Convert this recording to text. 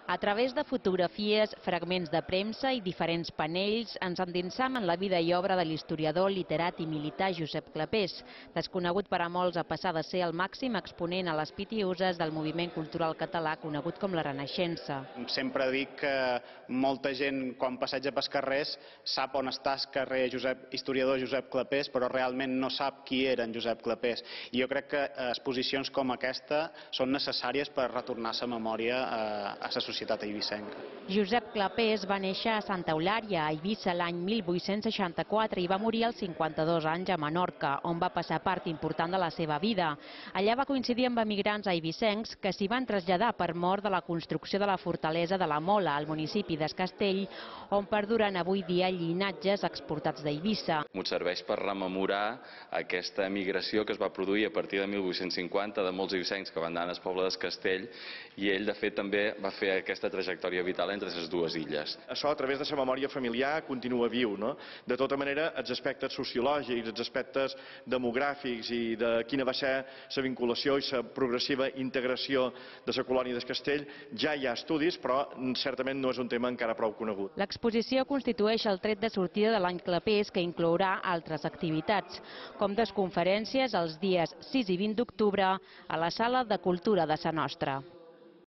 A través de fotografies, fragments de premsa i diferents panells ens endinsam en la vida i obra de l'historiador, literat i militar Josep Clapés, desconegut per a molts a passar de ser el màxim exponent a les pitiüses del moviment cultural català conegut com la Renaixença. Sempre dic que molta gent, quan passeja pels carrers, sap on està el carrer historiador Josep Clapés, però realment no sap qui era en Josep Clapés. I jo crec que exposicions com aquesta són necessàries per retornar la memòria a la societat eivissenca. Josep Clapés va néixer a Santa Eulària, a Eivissa, l'any 1864 i va morir als 52 anys a Menorca, on va passar part important de la seva vida. Allà va coincidir amb emigrants eivissencs que s'hi van traslladar per mor de la construcció de la fortalesa de la Mola, al municipi d'Es Castell, on perduren avui dia llinatges exportats d'Eivissa. Ens serveix per rememorar aquesta emigració que es va produir a partir de 1850 de molts eivissencs que van anar al poble d'Es Castell, i ell, de fet, també va fer aquesta trajectòria vital entre les dues illes. Això, a través de la memòria familiar, continua viu, no? De tota manera, els aspectes sociològics, els aspectes demogràfics i de quina va ser la vinculació i la progressiva integració de la colònia d'Es Castell, ja hi ha estudis, però certament no és un tema encara prou conegut. L'exposició constitueix el tret de sortida de l'any Clapés, que inclourà altres activitats, com conferències els dies 6 i 20 d'octubre a la Sala de Cultura de Sa Nostra.